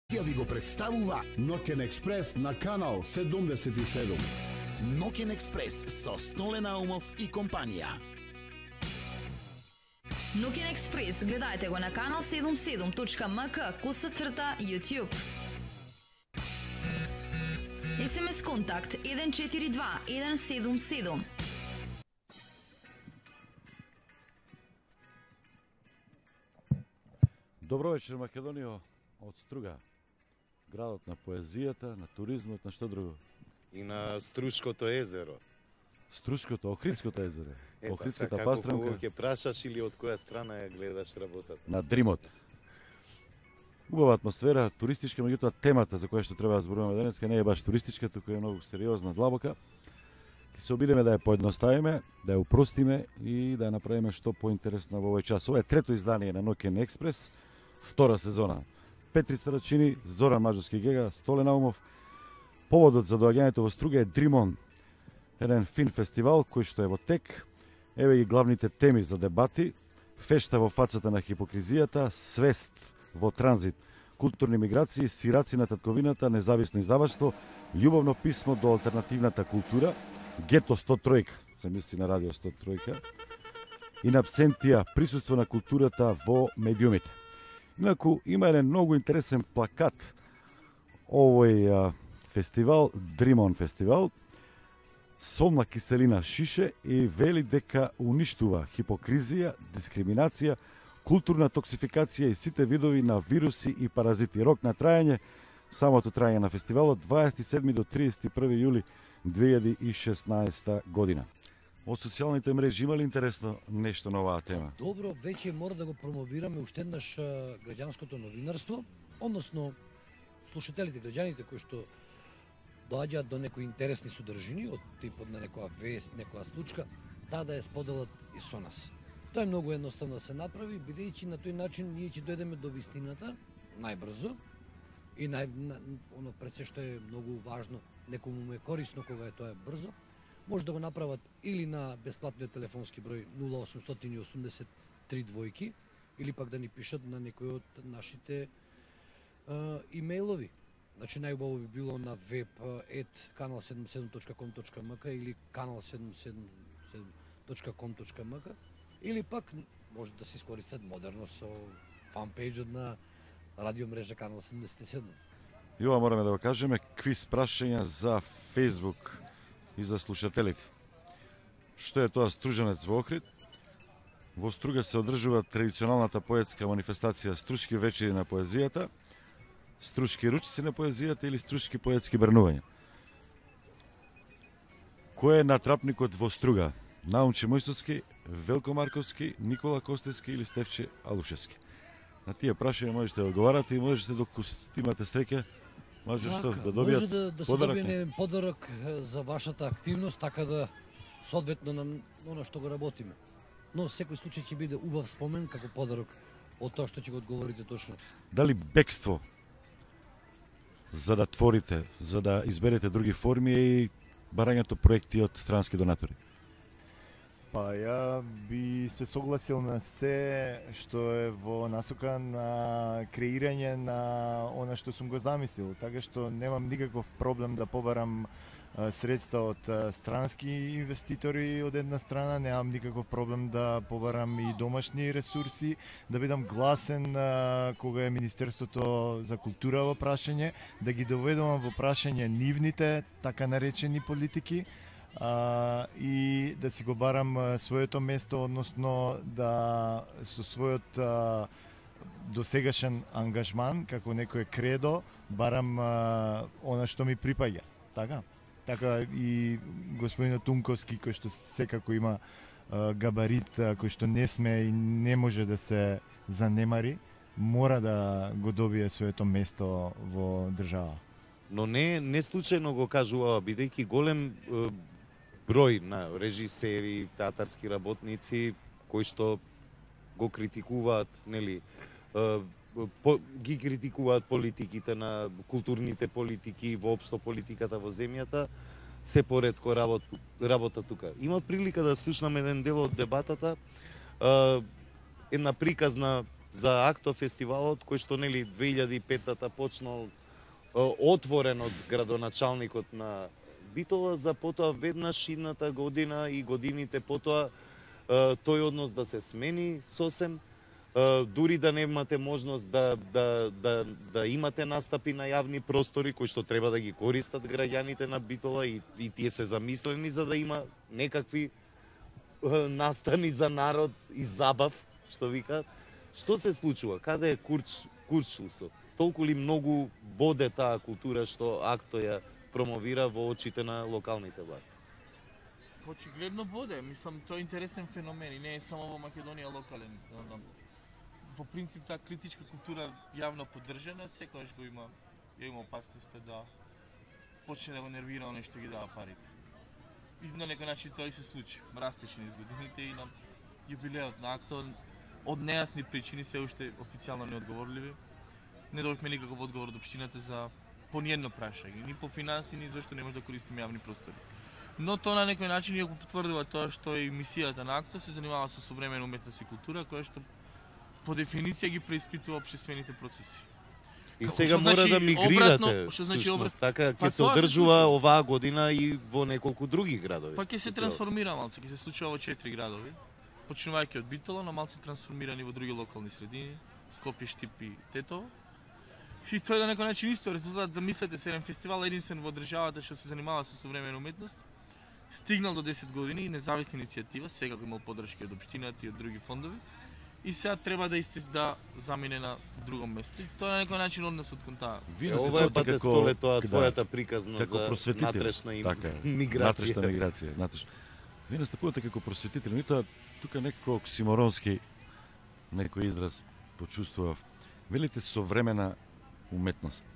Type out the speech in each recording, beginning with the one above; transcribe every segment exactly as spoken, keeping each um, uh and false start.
Ја ви го представува Ноќен експрес на канал седумдесет и седум. Ноќен експрес со Столе Наумов и компанија. Ноќен експрес гледајте го на канал седумдесет и седум точка ем ка коса црта YouTube. ес ем ес контакт еден четири два еден седум седум. Добро вечер, Македонијо, од Струга. Градот на поезијата, на туризмот, на што друго? И на Струшкото езеро. Струшкото, Охридското езеро. Ета, Охридската како пастрамка. ќе прашаш или од која страна ја гледаш работата? На Дримот. Убава атмосфера, туристичка, меѓутоа темата за која што треба да зборуваме денеска не е баш туристичка, туку е многу сериозна, длабока. Ќе се обидеме да ја поедноставиме, да ја упростиме и да ја направиме што поинтересно во овој час. Ова е трето издание на Ноќен експрес, втора сезона. Петри Сарачини, Зоран Маџовски Гега, Столе Наумов. Поводот за доаѓањето во Струга е Дримон, еден фин фестивал кој што е во тек. Еве ги главните теми за дебати: фешта во фацата на хипокризијата, свест во транзит, културни миграции, сираци на татковината, независно издаваштво, љубовно писмо до алтернативната култура, Гето сто три, се мисли на радио сто три, и на абсентија, присуство на културата во медиумите. Инаку има еден многу интересен плакат овој а, фестивал, Дримон фестивал. Солна киселина шише и вели дека уништува хипокризија, дискриминација, културна токсификација и сите видови на вируси и паразити. Рок на трајање, самото трајање на фестивалот, дваесет и седми до триесет и први јули две илјади и шеснаесета година. Од социјалните мрежи има ли интересно нешто на оваа тема? Добро, веќе мора да го промовираме уште еднаш граѓанското новинарство, односно слушателите, граѓаните кои што доаѓаат до некои интересни содржини од типот на некоја вест, некоја случка, таа да ја споделат и со нас. Тоа е многу едноставно да се направи, бидејќи на тој начин ние ќе дојдеме до вистината најбрзо и нај на, оно пред се што е многу важно, некому му е корисно кога е тоа е брзо. Може да го направат или на бесплатниот телефонски број нула осумстотини и осумдесет три двојки, или пак да ни пишат на некој од нашите а, имејлови. Значи најубаво би било на веб ет канал седумдесет и седум точка ком точка ем ка или канал седумдесет и седум точка ком точка ем ка, или пак може да се искористат модерно со фанпејџот на радио мрежа канал седумдесет и седум. И ова мораме да го кажеме, квиз прашања за Facebook и за слушателите. Што е тоа Стружанец во Охрид? Во Струга се одржува традиционалната поетска манифестација Струшки вечери на поезијата, Струшки ручици на поезијата или Струшки поетски брнувања. Кој е натрапникот во Струга? Наумче Мојсовски, Велко Марковски, Никола Костевски или Стефче Алушевски? На тие прашања можете да одговарате и можете доколку имате среќа, може што да добијат може да, да се подарок. добие еден подарок за вашата активност, така да соодветно на оно што го работиме. Но секој случај ќе биде убав спомен како подарок од тоа што ќе го одговорите точно. Дали бегство за да творите, за да изберете други форми и барањето проекти од странски донатори? Па ја би се согласил на се што е во насока на креирање на она што сум го замислил, така што немам никаков проблем да побарам а, средства од а, странски инвеститори од една страна, немам никаков проблем да побарам и домашни ресурси, да бидам гласен а, кога е Министерството за култура во прашање, да ги доведувам во прашање нивните така наречени политики, Uh, и да си го барам uh, своето место, односно да со својот uh, досегашен ангажман како некој кредо барам uh, она што ми припаѓа. Така? Така и господинот Тунковски кој што секако има uh, габарит uh, кој што не сме и не може да се занемари, мора да го добие своето место во држава. Но не не случајно го кажува, бидејќи голем број на режисери, театарски работници кои што го критикуваат, нели, по, ги критикуваат политиките на културните политики, воопшто политиката во земјата, се поредко работ, работа тука. Има прилика да слушнам еден дел од дебатата, една приказна за Акто фестивалот кој што нели две илјади и петта почнал отворен од градоначалникот на Битола, за потоа веднаш идната година и годините потоа тој однос да се смени сосем, дури да немате можност да, да, да, да имате настапи на јавни простори кои што треба да ги користат граѓаните на Битола и, и тие се замислени за да има некакви настани за народ и забав, што викаат. Што се случува? Каде е курч, курчлусот? Толку ли многу боде таа култура што Акто ја промовира во очите на локалните власти? Очигледно боде, мислам, тоа е интересен феномен и не е само во Македонија локален. Во принцип, таа критичка култура јавно поддржана, секогаш го има, ја има опасноста да почне да го нервира оној што ги дава парите. И на некој начин тоа и се случи. Растеше низ годините и на јубилеот на Акто од нејасни причини, се уште официјално неодговорливи, не добивме никаков одговор од општината за по ниедно прашање, ни по финанси, ни зашто не може да користиме јавни простори. Но тоа на некој начин ја го потврдува тоа што и мисијата на Акто се занимава со современа уметност и култура, која што по дефиниција ги преиспитува општествените процеси. И Како, сега мора значи, да мигрирате, обратно, што значи всушност, обрат... така ќе Па се тоа се одржува случува. оваа година и во неколку други градови. Па ќе се трансформира малце, ќе се случува во четири градови, почнувајќи од Битола, но малце трансформирани во други локални средини, Скопје, Штип и Тетово. И тој на некој начин исто резултат, замислете се, еден фестивал единствен во државата што се занимава со современа уметност, стигнал до десет години и независна иницијатива, сега го имал поддршка од општината и од други фондови, и сега треба да истис да замине на друго место. И тоа на некој начин односот кон таа. Вие Е, не сте ова е ставате пате како- столе тоа да, твојата приказна како за просветител. натрешна им... Така е, миграција. Натрешна миграција, натрешна. Вие настапувате како просветители, ми тоа тука некако оксиморонски некој израз почувствував. Велите современа уметност.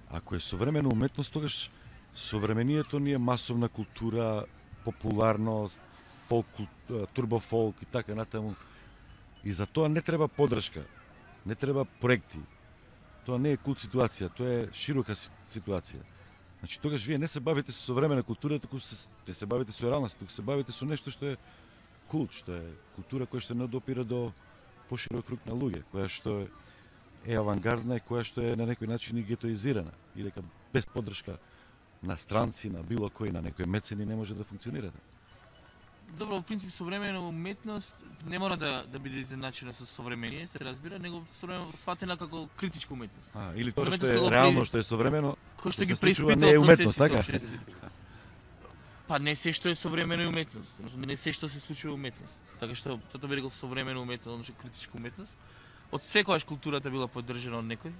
Ако е современа уметност, тогаш современието ни е масовна култура, популарност, фолк, турбофолк и така натаму. И за тоа не треба поддршка, не треба проекти. Тоа не е култ ситуација, тоа е широка си- ситуација. Значи тогаш вие не се бавите со современа култура, туку се, не се бавите со реалност, туку се бавите со нешто што е култ, што е култура која што не допира до поширок круг на луѓе, која што е, е авангардна и која што е на некој начин и гетоизирана, и дека без поддршка на странци, на било кој, на некој мецени не може да функционира. Добро, во принцип современа уметност не мора да да биде изедначена со современие, се разбира, него современо сватена како критичка уметност. А, или тоа што Уметност е кога реално, при- што е современо, Кој што да ги се случува, преиспитува не е уметност, процесите така? општествени. Па не се што е современа е уметност, не се што се случува е уметност. Така што тоа би рекол современа уметност, одnosno критичка уметност. Од секогаш културата била поддржана од некој,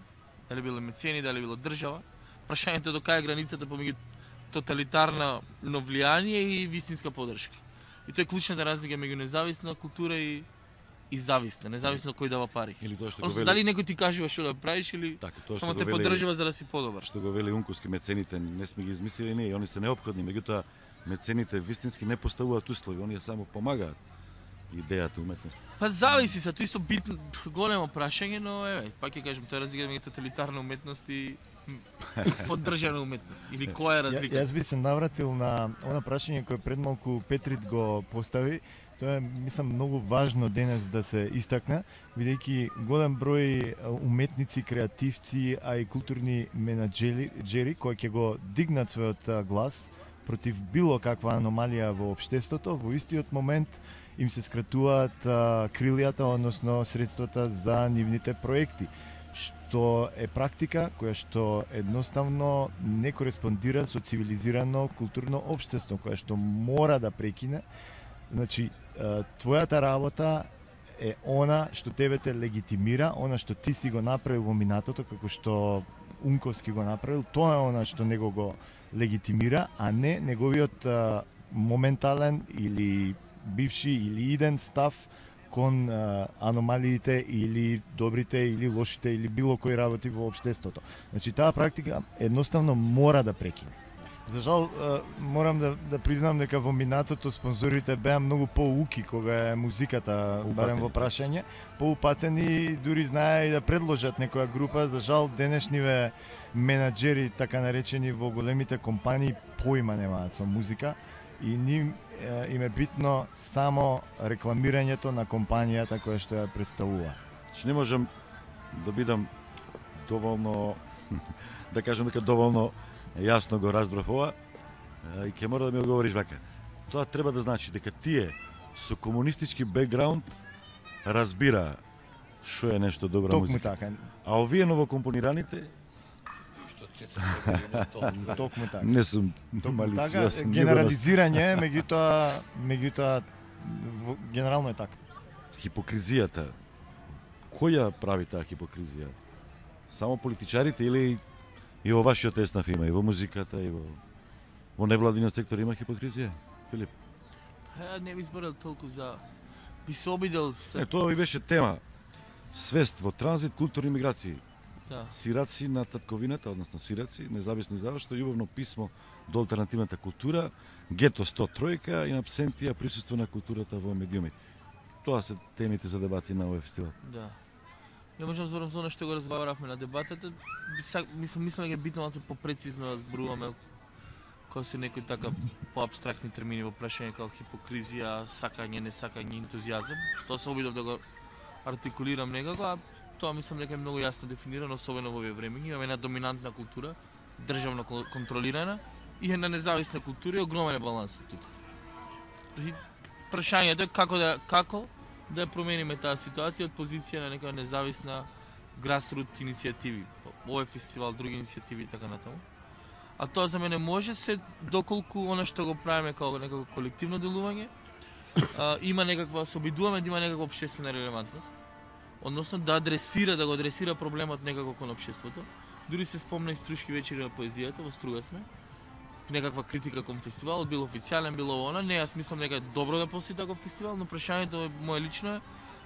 дали било мецени, дали било држава. Прашањето е до кај е границата помеѓу тоталитарно влијание и вистинска поддршка. И тоа е клучната разлика меѓу независна култура и и зависна, независно кој дава пари. или тоа што го Одnosno, вели, дали некој ти кажува што да правиш или така, тоа само што те го вели, поддржува за да си подобар. што го вели Унковски, мецените не сме ги измислили ние, они се неопходни, меѓутоа мецените вистински не поставуваат услови, оние само помагаат идејата уметност. Па зависи се, тоа исто битно големо прашање, но еве, пак ќе кажем, тоа е разлика меѓу тоталитарна уметност и м, поддржана уметност. Или која е Ја, разлика? јас би се навратил на она прашање кое пред малку Петрит го постави. Тоа е, мислам, многу важно денес да се истакне, бидејќи голем број уметници, креативци, а и културни менаџери кои ќе го дигнат својот а, глас против било каква аномалија во општеството, во истиот момент им се скратуваат а, крилјата, односно средствата за нивните проекти, што е практика која што едноставно не кореспондира со цивилизирано културно општество, која што мора да прекине. Значи, а, твојата работа е она што тебе те легитимира, она што ти си го направил во минатото, како што Унковски го направил, тоа е она што него го легитимира, а не неговиот а, моментален или бивши или иден став кон а, аномалиите или добрите или лошите или било кои работи во општеството. Значи таа практика едноставно мора да прекине. За жал, а, морам да, да признам дека во минатото спонзорите беа многу поуки кога е музиката, барем во прашање, поупатени, дури знае и да предложат некоја група. За жал, денешниве менаџери, така наречени во големите компании, поима немаат со музика и ним е, им е битно само рекламирањето на компанијата која што ја представува. Значи не можам да бидам доволно да кажам дека доволно јасно го разбрав ова и ќе мора да ми одговориш вака. Тоа треба да значи дека тие со комунистички бекграунд разбира што е нешто добра Токму музика. така. А овие новокомпонираните Што цета се тоа. Токму така. не сум Така, малициозен. генерализирање, меѓутоа, меѓутоа во- генерално е така. Хипокризијата. Кој ја прави таа хипокризија? Само политичарите или и во вашиот еснав има, и во музиката, и во во невладиниот сектор има хипокризија? Филип? Ја не би зборел толку за... Би се обидел... Е, тоа ви беше тема. Свест во транзит, културни миграции. Да. Сираци на татковината, односно сираци, независни завршто, љубовно писмо до алтернативната култура, Гето сто тројка и абсентија присуство на културата во медиумите. Тоа се темите за дебати на овој фестивал. Да. Ја можам да зборам за оно што го разговаравме на дебатата. Са- Мислам, мислам дека е битно малку попрецизно да зборуваме како се некои така поабстрактни термини во прашање како хипокризија, сакање, несакање, ентузијазам. Тоа се обидов да го артикулирам некако, а тоа мислам дека е многу јасно дефинирано, особено во овие времења. Имаме една доминантна култура, државно кон- контролирана, и една независна култура и огромен е балансот тука. И прашањето е како да како да ја промениме таа ситуација од позиција на нека независна грасрут иницијативи. Овој фестивал, други иницијативи и така натаму. А тоа за мене може се доколку она што го правиме како некако колективно делување, а, има некаква, се обидуваме да има некаква општествена релевантност. Односно да адресира, да го адресира проблемот некако кон општеството. Дури се спомна и Струшки вечери на поезијата, во Струга сме. Некаква критика кон фестивалот, било официјален, било она. Не, јас мислам дека е добро да постои таков фестивал, но прашањето е мое лично е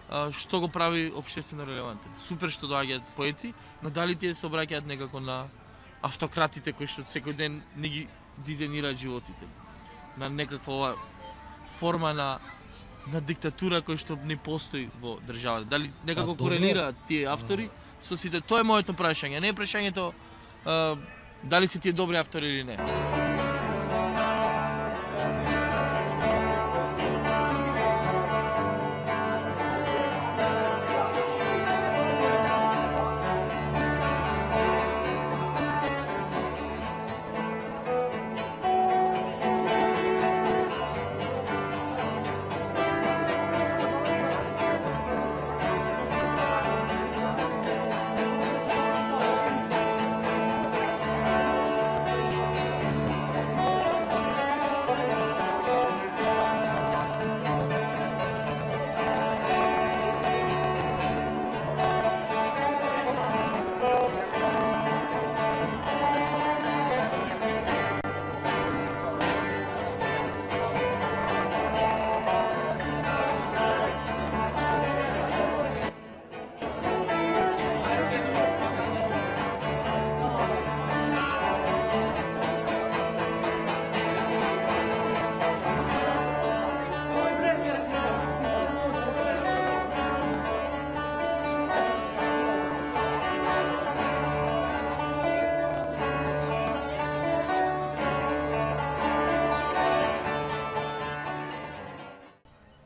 а, што го прави општествено релевантен. Супер што доаѓаат поети, но дали тие се обраќаат некако на автократите кои што секој ден не ги дизајнираат животите. На некаква ова форма на на диктатура која што не постои во државата. Дали некако А, добро. корелираат тие автори со сите? Тоа е моето прашање. Не е прашањето а, дали се тие добри автори или не.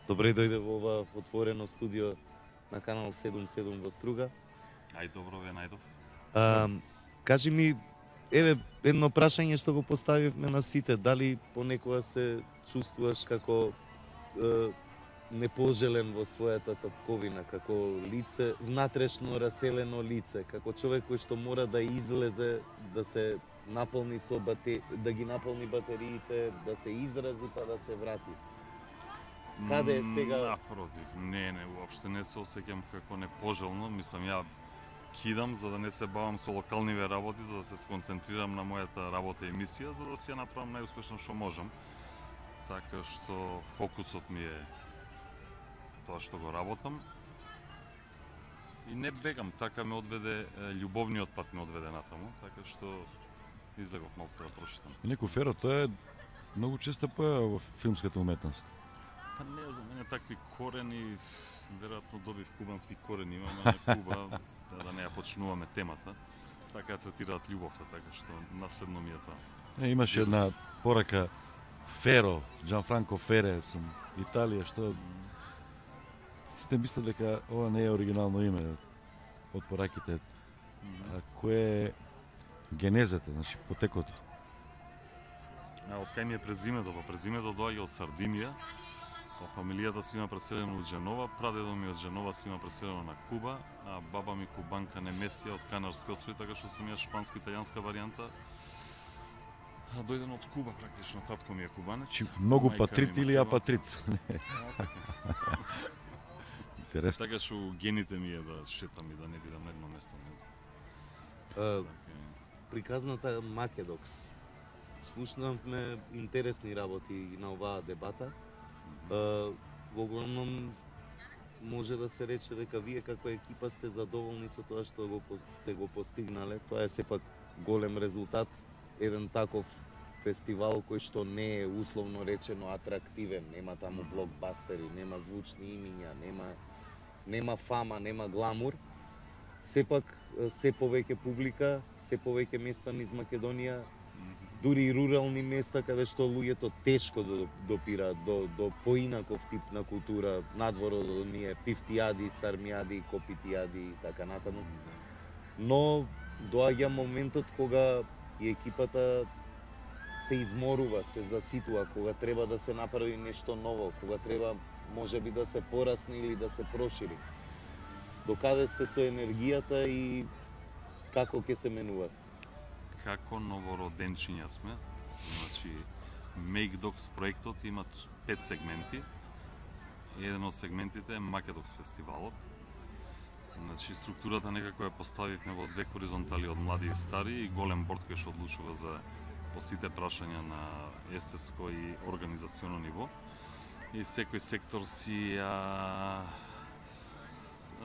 Добре дојде во ова отворено студио на канал седум седум во Струга. Ај добро ве најдов. А, кажи ми, еве едно прашање што го поставивме на сите, дали понекога се чувствуваш како е, непожелен во својата татковина, како лице, внатрешно раселено лице, како човек кој што мора да излезе, да се наполни со бате, да ги наполни батериите, да се изрази па да се врати. Каде е сега? Напротив, не, не, уопште не се осеќам како непожелно. Мислам, ја кидам за да не се бавам со локалниве работи, за да се сконцентрирам на мојата работа и мисија, за да си ја направам најуспешно што можам. Така што фокусот ми е тоа што го работам. И не бегам, така ме одведе, е, љубовниот пат ме одведе натаму, така што излегов малку да прошетам. И некој Феро, тоа е многу честа појава во филмската уметност. Па не, за мене такви корени, веројатно добив кубански корени, имаме на Куба, да, да не ја почнуваме темата. Така ја третираат љубовта, така што наследно ми е тоа. Е, имаше една порака Феро, Джанфранко Фере, сум Италија, што Сите мислат дека ова не е оригинално име од пораките. А кое е генезата, значи потеклото? А од кај ми е презимето? Па презимето доаѓа од Сардинија. Па фамилијата си има преселено од Женова, прадедо ми од Женова си има преселено на Куба, а баба ми кубанка Немесија од Канарски острови, така што сум ја шпанско-италијанска варијанта. А дојден од Куба практично, татко ми е кубанец. Чи многу мајка патрит ми или мотива. апатрит? Интересно. Така што гените ми е да шетам и да не бидам на едно место, не знам. А, Така е. приказната Македокс. Слушнавме интересни работи на оваа дебата. А, во главном може да се рече дека вие како екипа сте задоволни со тоа што го по- сте го постигнале. Тоа е сепак голем резултат. Еден таков фестивал кој што не е условно речено атрактивен, нема таму блокбастери, нема звучни имиња, нема нема фама, нема гламур. Сепак се повеќе публика, се повеќе места низ Македонија, дури и рурални места каде што луѓето тешко до- допираат до, до поинаков тип на култура, надвор од оние пифтијади, сармијади, копитијади и така натаму. Но доаѓа моментот кога и екипата се изморува, се заситува, кога треба да се направи нешто ново, кога треба можеби да се порасне или да се прошири. Докаде сте со енергијата и како ќе се менуват? Како новороденчиња сме. Значи, Make Dogs проектот има пет сегменти. Еден од сегментите е Македокс фестивалот. Значи, структурата некако ја поставивме во две хоризонтали од млади и стари и голем борд кој што одлучува за по сите прашања на естетско и организационо ниво. И секој сектор си ја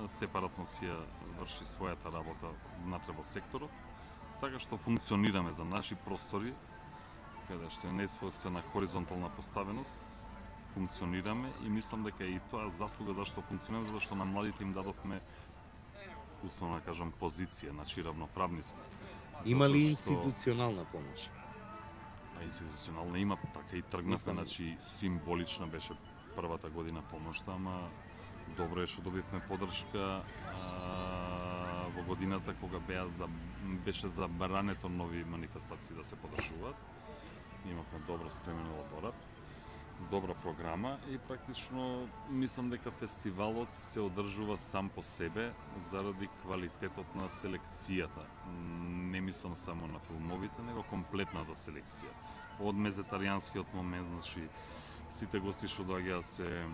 сепаратно си ја врши својата работа внатре во секторот, така што функционираме за наши простори, каде што е несвојствена хоризонтална поставеност, функционираме и мислам дека и тоа заслуга зашто функционираме, затоа што на младите им дадовме, условно да кажам, позиција, значи равноправни сме. Има ли Затоа што- институционална помош? Па институционална има, така и тргнавме, Мислам. значи символична беше првата година помошта, ама добро е што добивме подршка а, во годината кога беа за, беше забрането нови манифестации да се подржуваат. Имавме добро спремен елаборат, добра програма и практично мислам дека фестивалот се одржува сам по себе заради квалитетот на селекцијата. Не мислам само на филмовите, него комплетната селекција. Од мезетаријанскиот момент, значи сите гости што доаѓаат се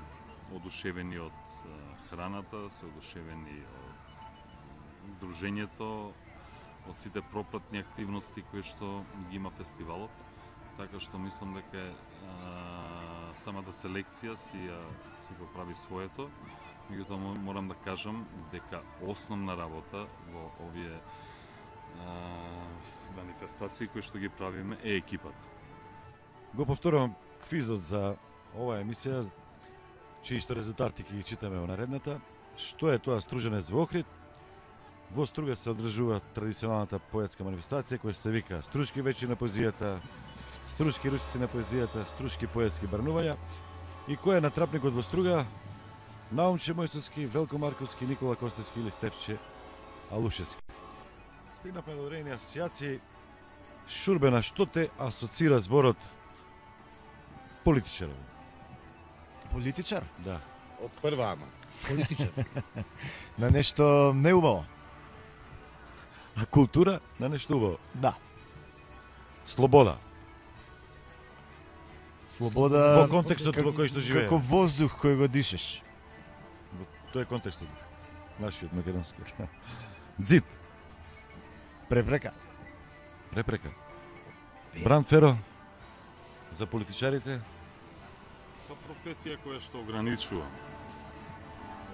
одушевени од е, храната, се одушевени од дружењето, од сите пропратни активности кои што ги има фестивалот. Така што мислам дека е, а, самата селекција си, ја, си го прави своето. Меѓутоа мо- морам да кажам дека основна работа во овие а, с- манифестации кои што ги правиме е екипата. Го повторувам квизот за оваа емисија, чии што резултати ќе ги читаме во наредната. Што е тоа Струженец во Охрид? Во Струга се одржува традиционалната поетска манифестација која се вика Струшки вечи на поезијата, Струшки ручици на поезијата, Струшки поетски барнувања. И кој е натрапникот во Струга? Наумче Мојсовски, Велко Марковски, Никола Костевски или Стефче Алушевски. Стигнавме до одредени асоцијации. Шурбена, што те асоцира зборот политичар? Политичар? Да. Од прва ама. Политичар. На нешто неубаво? А култура на нешто убаво. Да. Слобода. Слобода Во контекстот во кој што живее. Како воздух кој го дишеш. Во тој контекстот. Нашиот македонски. Дзид. Препрека. Препрека. Бранд Феро. За политичарите. Со професија која што ограничува.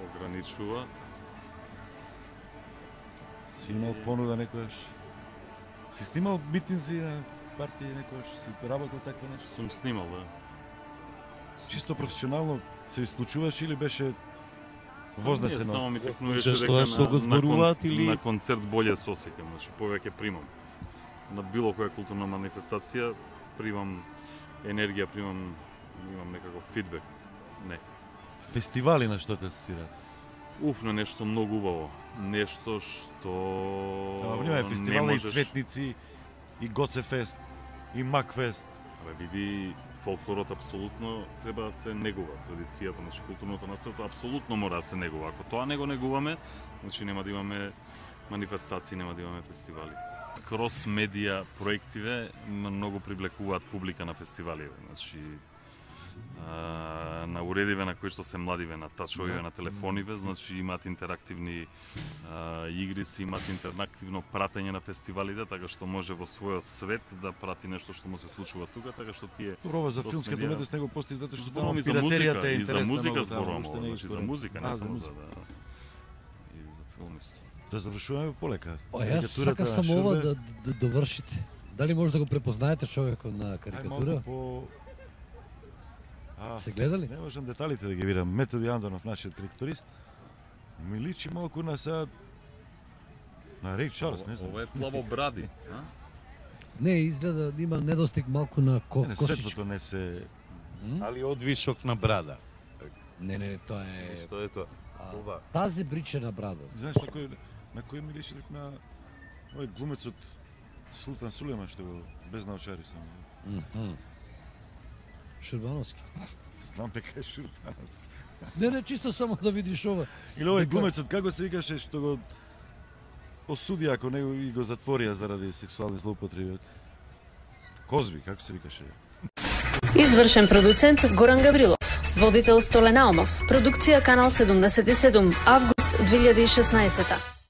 Ограничува. Си имал понуда некојаш. Си снимал митинзи на партии некојаш, си работел такво нешто? Сум снимал, да. Чисто професионално се исклучуваш или беше вознесено? Не, само ми Го текнуваше слушаш дека тоа што на, го на, зборуваат конц, или- на концерт боле се осеќам, значи повеќе примам. На било која културна манифестација примам енергија, примам имам некаков фидбек. Не. фестивали на што те асоцираат? Уф, на нешто многу убаво. Нешто што Ама внимај, фестивали можеш... и Цветници, и Гоцефест, и Макфест. Абе, види, фолклорот апсолутно треба да се негува. Традицијата, значи културното наследство апсолутно мора да се негува. Ако тоа не го негуваме, значи нема да имаме манифестации, нема да имаме фестивали. Крос медија проективе многу привлекуваат публика на фестиваливе. Значи а, на уредиве на кои што се младиве, на тачовиве, на телефониве, значи имаат интерактивни а, игрици, имаат интерактивно пратење на фестивалите, така што може во својот свет да прати нешто што му се случува тука, така што тие Добро, за филмската уметност него постои затоа што зборувам и за музика, и за музика зборувам, значи за музика, не само за да и за филм исто. Да завршуваме полека. О, јас сакав само ова да, да довршите. Дали може да го препознаете човекот на карикатура? Ај, по... А, се гледали? Не можам деталите да ги видам. Методи Андонов, нашиот карикатурист, ми личи малку на са... на Рей Чарлс, не знам. Ова е плаво бради, а? Не, изгледа има недостиг малку на ко, не, косичка. светлото не се... Али одвишок на брада. Не, не, не, тоа е... Што е тоа? А, тази бричена брада. Знаеш на кој, на кој ми личи на овој глумецот Султан Сулейман што го без научари само. Mm -hmm. Шурбановски. Знам дека е Шурбановски. Не, не, чисто само да видиш ова. Или овој глумецот, како се викаше, што го осуди ако него и го затворија заради сексуални злоупотреби. Козби, како се викаше? Извршен продуцент Горан Гаврилов, водител Столе Наумов, продукција Канал седумдесет и седум, август две илјади и шеснаесета.